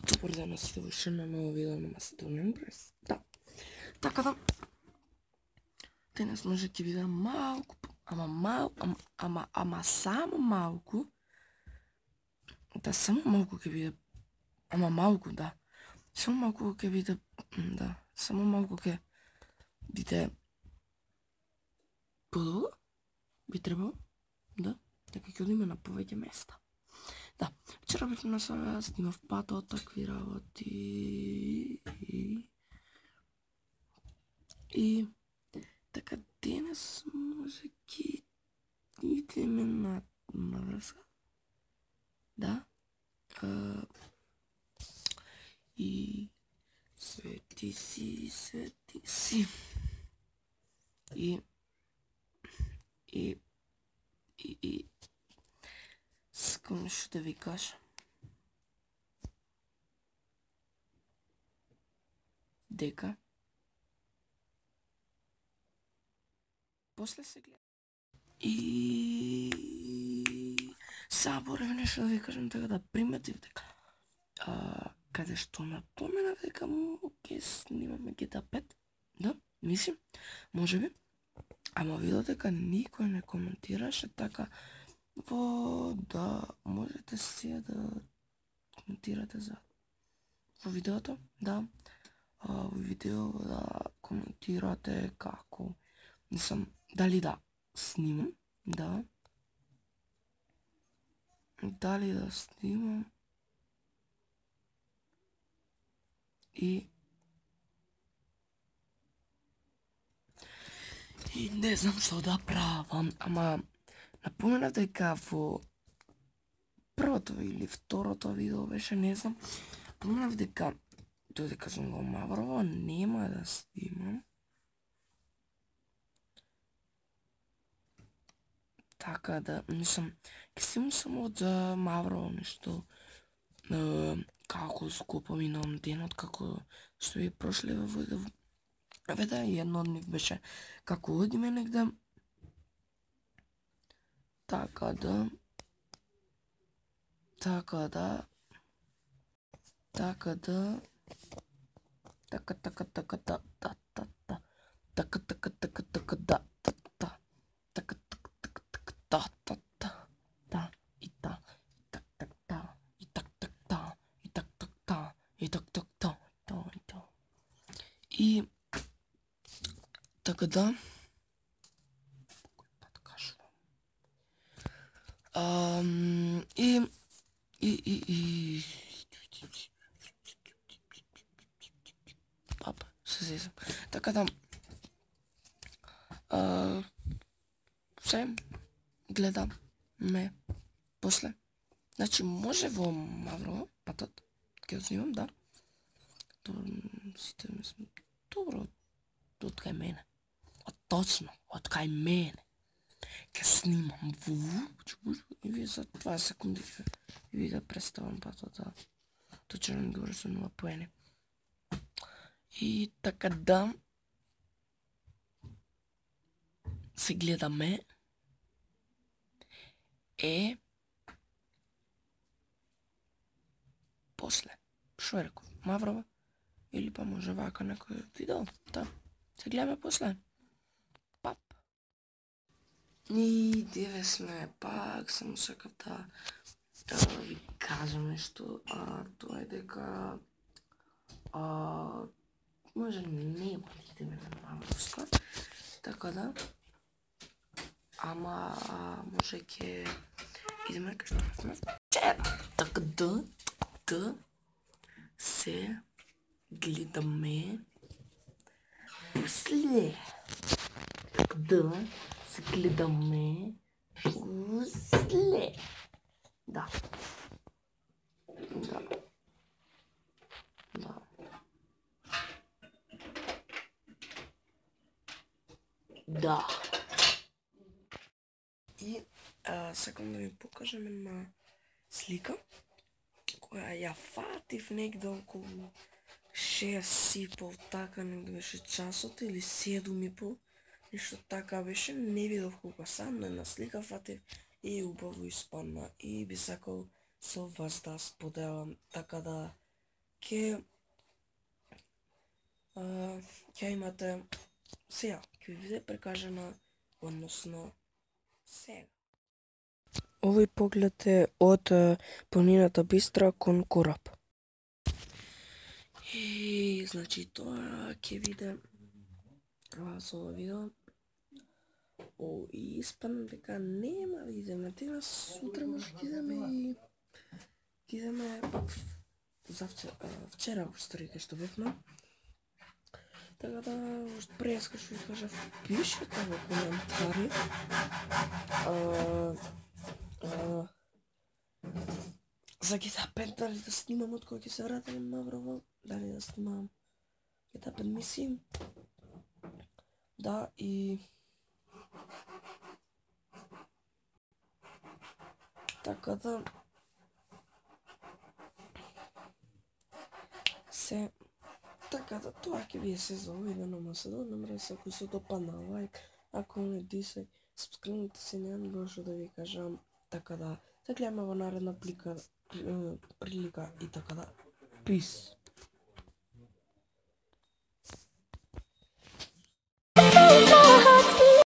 Добар ден на сите во уште на ново видео на Macedonian Press. Да. Така да денес може ќе биде малку, ама само малку. Да, само малку ќе биде. Ама малку, да. Само малку ќе биде, да, само малку ќе биде подолго. Би требало, да, така ќе одиме на повеќе места. Да, вчера бев на Сараја, снимав патот, такви работи и така денес може ќе идеме на врска. Да. И свети си. И сакам нешто да ви кажа. Дека после се гледа. И заборев нешто да ви кажам, така да приметив дека каде што напоменав дека ќе снимаме GTA 5, да, мислим, можеби, ама видов дека никој не коментираше, така да можете си да коментирате за во видеото, да, во видео да коментирате како, мислам, дали да снимам, да, дали да снимам и не знам што да правам, ама напоменав дека во првото или второто видео беше, не знам, напоменав дека додека сум во Маврово нема да снимам. Така да, мислам, ќе снимам само од Маврово нешто, како скупо минувам денот, како што ви прошли во видео. Да, едно од нив беше како одиме негде. Така да папа, се зезам. Така да се гледаме после. Значи може во Маврово патот ќе го снимам, да. Сите мислам добро од кај мене. Точно, од кај мене. Ќе снимам и вие за 20 секунди и ви да представам патот, да. Точно ми говори со 0 поени. И така да се гледаме после. Шо реков? Маврово? Или па може вака некој видео? Да. Се гледаме после. Пап. И деве сме пак, само сакав да ви кажам нешто, тоа е дека може нема да идеме на Мавровска, така да, ама може ќе идеме кај што сме вчера, така да се гледаме после. Така да се гледаме после. Да. И сакам да ви покажам една слика која ја фатив негде околу 6:30, така негде беше часот, или 7:30, нешто така беше, не видов колку сам, но една слика фатив и убаво испадна и би сакал со вас да споделам, така да ќе имате сега, ќе ви биде прикажана, односно сега. Овој поглед е од планината Бистра кон кораб. И, значи, тоа ќе биде со ова видео. И испадам дека нема да идеме денес, сутра може ќе идеме пак вчера кај што бевме. Така да, преска што ви кажав, пишете во коментари за GTA 5, дали да снимам од кога ќе се вратам на Врво, дали да снимам GTA 5 мисии. Да, и така да така да тоа ќе биде се за овој ден, ама се донемре се, ако се допадна лайк, ако не дисај, сабскрибнете се, немам друго што да ви кажам, така да се гледаме во наредна прилика и така да, peace.